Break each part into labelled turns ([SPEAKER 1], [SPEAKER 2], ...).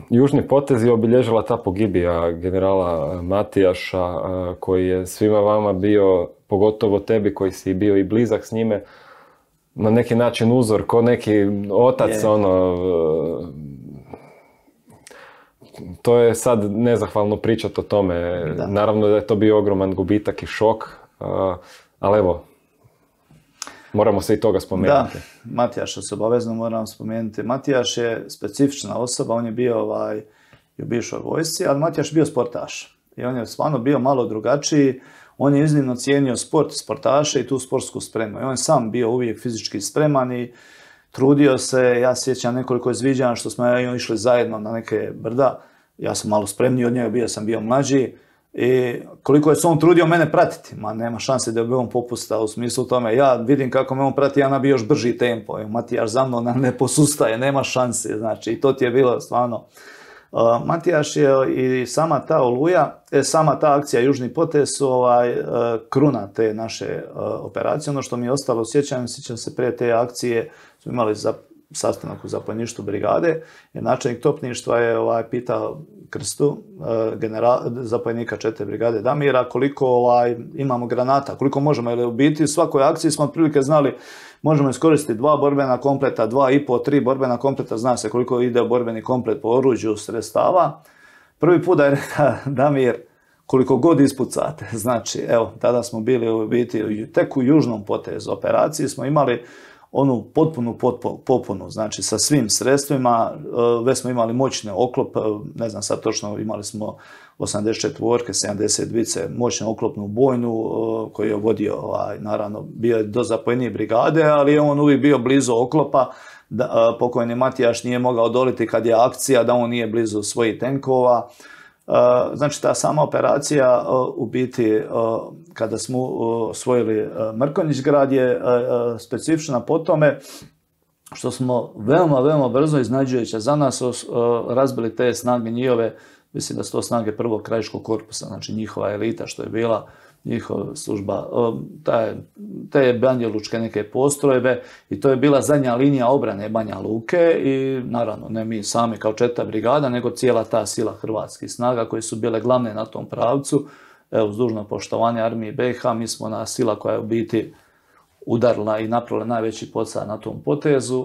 [SPEAKER 1] južni potez je obilježila ta pogibija generala Matijaša, koji je svima vama bio, pogotovo tebi koji si bio i blizak s njime, na neki način uzor, ko neki otac, to je sad nezahvalno pričati o tome. Da. Naravno da je to bio ogroman gubitak i šok, ali evo, moramo se i toga spomenuti.
[SPEAKER 2] Da, Matijaša se obavezno moramo spomenuti. Matijaš je specifična osoba, on je bio i u bivšoj vojsci, ali Matijaš je bio sportaš. I on je stvarno bio malo drugačiji. On je iznimno cijenio sport, sportaše i tu sportsku spremu. I on je sam bio uvijek fizički spreman i trudio se. Ja sjećam nekoliko izviđanja što smo išli zajedno na neke brda. Ja sam malo spremniji od njega, sam bio mlađi. I koliko je se on trudio mene pratiti, nema šanse da bi on popustao u smislu tome. Ja vidim kako me on prati, ja nabio još brži tempo. Matijaš za mnom ne posustaje, nema šanse. Znači, i to ti je bilo stvarno. Matijaš je i sama ta Oluja, sama ta akcija Južni potez su kruna te naše operacije. Ono što mi je ostalo, sjećam se prije te akcije, smo imali sastanak u zapovjedništvu brigade, jer načelnik topništva je pitao Krstu, zapovjednika 4. brigade Damira, koliko imamo granata, koliko možemo, jer u biti u svakoj akciji smo otprilike znali možemo iskoristiti 2 borbena kompleta, 2,5, 3 borbena kompleta, zna se koliko ide borbeni komplet po oruđu sredstava. Prvi put da je rekao Damir, koliko god ispucate. Znači, evo, tada smo bili u biti tek u južnom potezu operaciji, smo imali onu potpunu popunu, znači sa svim sredstvima, već smo imali moćne oklope, ne znam sad točno, imali smo 84-ke, 72-ce, moćnu oklopnu bojnu koju je vodio, naravno, bio je do zapovjednik brigade, ali je on uvijek bio blizu oklopa, pokojni Matijaš nije mogao odoliti kad je akcija, da on nije blizu svojih tenkova. Znači, ta sama operacija, u biti, kada smo osvojili Mrkonjić grad, je specifična po tome što smo veoma, veoma brzo, iznađujući za nas, razbili te snage njihove, mislim da su to snage prvog krajiškog korpusa, znači njihova elita što je bila, njihova služba, te Banjalučke neke postrojbe, i to je bila zadnja linija obrane Banja Luke i naravno ne mi sami kao 4. brigada, nego cijela ta sila hrvatskih snaga koje su bile glavne na tom pravcu. Evo, uz dužno poštovanje armiji BiH, mi smo na sila koja je u biti udarila i napravila najveći pothvat na tom potezu.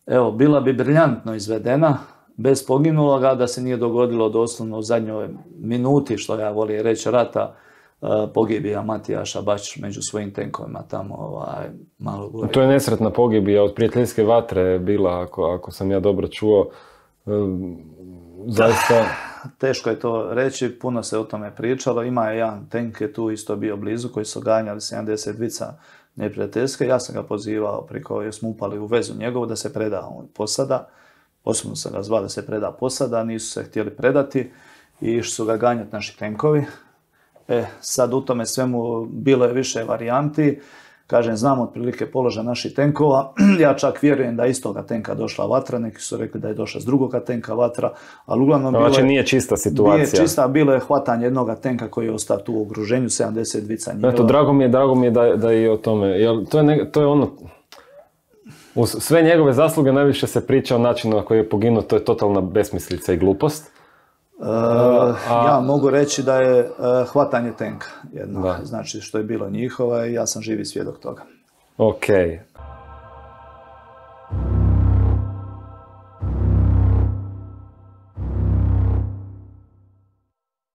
[SPEAKER 2] Evo, bila bi briljantno izvedena, bez poginuloga, da se nije dogodilo doslovno u zadnjoj minuti, što ja volim reći, rata, pogibija Matijaša baš među svojim tenkovima tamo malo gore.
[SPEAKER 1] To je nesretna pogibija od prijateljske vatre bila, ako sam ja dobro čuo. Zaista...
[SPEAKER 2] Teško je to reći, puno se o tome pričalo. Ima je jedan tenk je tu isto bio blizu, koji su ganjali 72-ca neprijateljske. Ja sam ga pozivao jer smo upali u vezu njegovu da se preda posada. Osobno sam ga zvao da se preda posada, nisu se htjeli predati i išli su ga ganjati naši tenkovi. Sad u tome svemu bilo je više varijanti. Kažem, znam otprilike položaj naših tenkova. Ja čak vjerujem da je iz toga tenka došla vatra, neki su rekli da je došla s drugoga tenka vatra, ali uglavnom
[SPEAKER 1] znači nije čista situacija.
[SPEAKER 2] Nije čista, bilo je hvatanje jednoga tenka koji je ostao tu u okruženju, 72-ca njihova.
[SPEAKER 1] Eto, drago mi je da je o tome, jer to je ono, uz sve njegove zasluge najviše se priča o načinu na koji je poginuo, to je totalna besmislica i glupost.
[SPEAKER 2] Ja mogu reći da je hvatanje tenka jedno, znači što je bilo njihova i ja sam živi svjedok toga.
[SPEAKER 1] Ok.